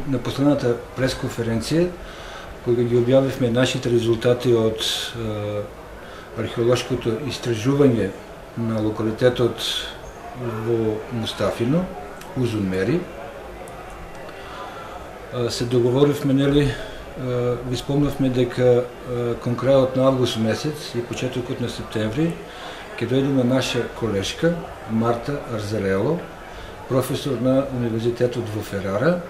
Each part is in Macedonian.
на последната пресконференција, кога ги објавивме нашите резултати од археолошкото истражување на локалитетот во Мустафино, Узун Мери, се договоривме, ви спомнавме дека кон крајот на август месец и почетокот на септември ќе дојде на наша колешка Марта Арзарело, професор на Универзитетот во Ферара,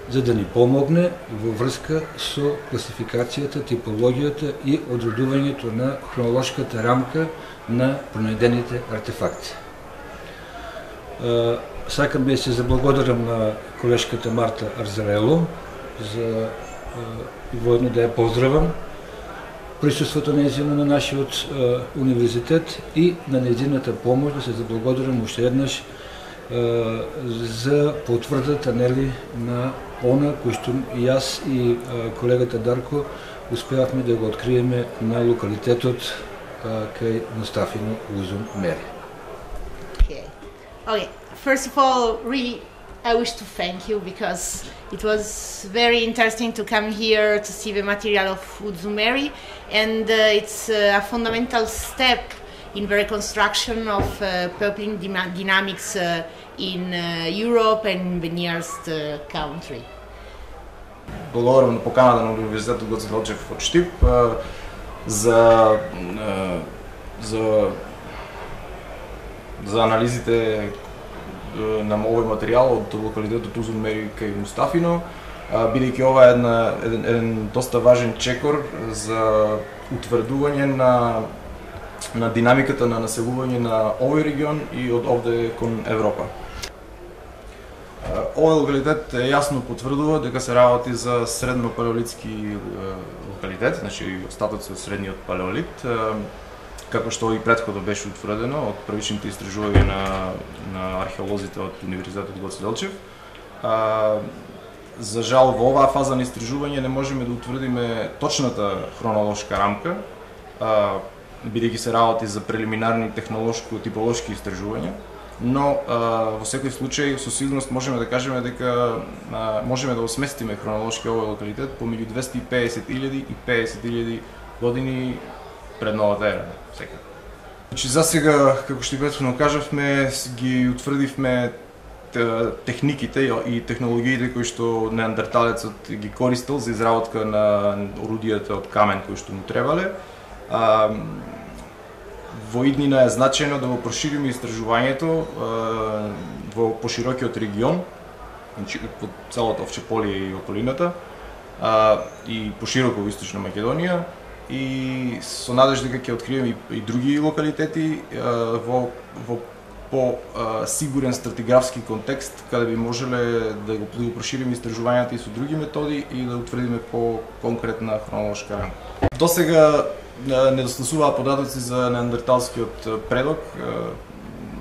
за да ни помогне во врска со класификацијата, типологијата и одредувањето на хронолошката рамка на пронајдените артефакти. Сакам да се заблагодарам на колешката Марта Арзарело за воедно да ја поздравам присуството нејзино на нашиот универзитет и на нејзината помош, да се заблагодарам уште еднаш за потврдата на она кој што и јас и колегата Дарко успеавме да го откриеме на локалитетот кај Мустафино Узун Мери. Okay. First of all, really, I wish to thank you because it was very interesting to come here to see the material of Uzun Meri, and it's a fundamental step in the reconstruction of peopling dynamics in Europe and the nearest country. Благодарам на поканата на Универзитетот Гоце Делчев од Штип за анализите на овој материјал од локалитетот Узун Мери кај Мустафино, бидејќи ова е еден доста важен чекор за утврдување на динамиката на населување на овој регион и од овде кон Европа. Овој локалитет јасно потврдува дека се работи за средно палеолитски локалитет, значи остатоци од средниот палеолит, како што и претходно беше утврдено од првичните истражувања на археолозите од Универзитетот Гоце Делчев. За жал, во оваа фаза на истражување не можеме да утврдиме точната хронолошка рамка, бидејќи се работи за прелиминарни технолошко-типолошки истражувања, но во секој случај со сигурност можеме да кажеме дека можеме да осместиме хронолошки овој локалитет помеѓу 250.000 и 50.000 години пред новата ера. Значи, за сега, како што и претходно кажавме, ги утврдивме техниките и технологиите кои што неандерталецот ги користел за изработка на орудијата од камен кои што му требале. Во иднина е значајно да го прошириме истражувањето во поширокиот регион, значи во целото Овчеполие и околината, и пошироко во Источна Македонија, и со надежда дека ќе откриеме и други локалитети во по-сигурен стратиграфски контекст, каде би можеле да го прошириме истражувањата и со други методи и да утврдиме по-конкретна хронолошка рамка. Досега недостасуваа податоци за неандерталскиот предок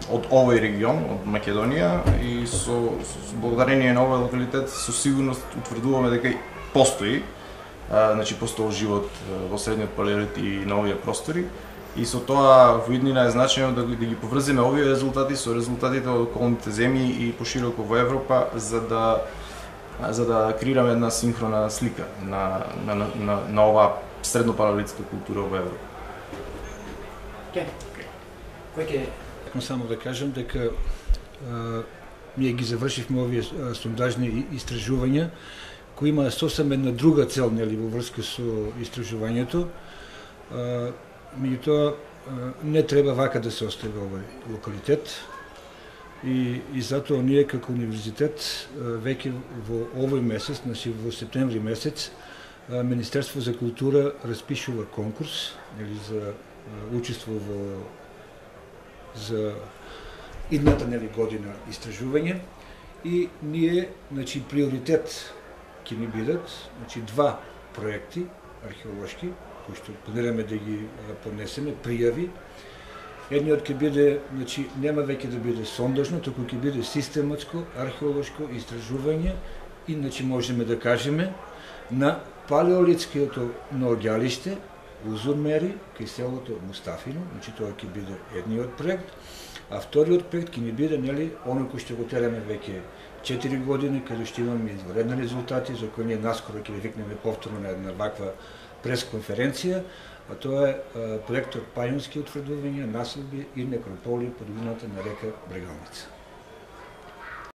од овој регион, од Македонија, и со благодарение на овој локалитет со сигурност утврдуваме дека постои, значи постоел живот во средниот палеолит и на овие простори, и со тоа во иднина е значајно да ги поврземе овие резултати со резултатите од околните земји и пошироко во Европа, за да креираме една синхрона слика на оваа среднопалеолитска култура во Европа. Сакам само да кажам дека ние ги завршивме овие сондажни истражувања кои има сосем една друга цел, во врска со истражувањето. Меѓутоа не треба вака да се остави овој локалитет и затоа ние како универзитет веќе во овој месец, значи во септември месец, Министерство за култура распишува конкурс за учество за идната година истражување, и ние, значи, приоритет ќе ни бидат, значи, два проекти археолошки кои што планираме да ги поднесеме, пријави. Едниот ќе биде, значи, нема веќе да биде сондажно, туку ќе биде систематско археолошко истражување и, значи, можеме да кажеме на палеолитското наоѓалиште Узун Мери кај селото Мустафино, значи тоа ќе биде едниот проект, А вториот проект ќе ни биде, нели, оној кој што го тераме веќе 4 години, каде што имаме изваредни резултати, за кои ние наскоро ќе ви викнеме повторно на една ваква пресконференција, а тоа е проектот Пајонски утврдувања, населби и некрополи по долината на река Брегалница.